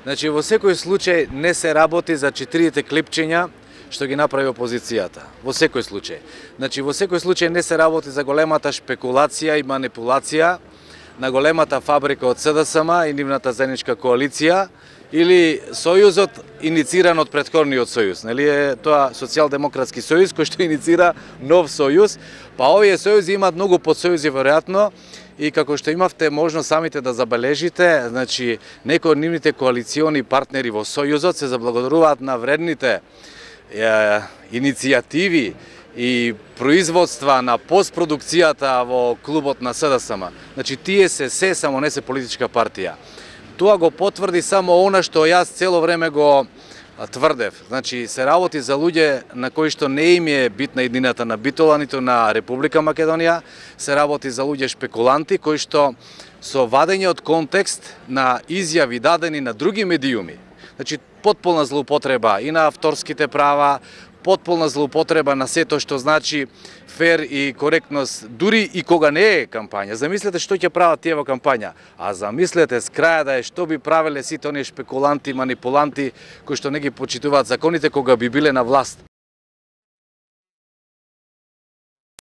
Значи, во секој случај не се работи за 4 клипчиња што ги направи опозицијата. Во секој случај. Значи, во секој случај не се работи за големата шпекулација и манипулација на големата фабрика од СДСМ и нивната заедничка коалиција или сојузот инициран од претходниот сојуз. Нели е тоа социјалдемократски сојуз кој што иницира нов сојуз, па овие сојузи имаат многу подсојузи веројатно и како што имавте можност самите да забележите, значи некои од нивните коалициони партнери во сојузот се заблагодаруваат на вредните иницијативи и производства на постпродукцијата во клубот на СДСМ. Значи тие се само не се политичка партија. Тоа го потврди само она што јас цело време го тврдев. Значи се работи за луѓе на кои што не им е битна едината на Битола, ниту на Република Македонија, се работи за луѓе шпекуланти кои што со вадење од контекст на изјави дадени на други медиуми. Значи потполна злоупотреба и на авторските права, потполна злоупотреба на сето што значи фер и коректност, дури и кога не е кампања. Замислете што ќе прават тие во кампања, а замислете с краја да е што би правеле сите оние шпекуланти, манипуланти кои што не ги почитуваат законите кога би биле на власт.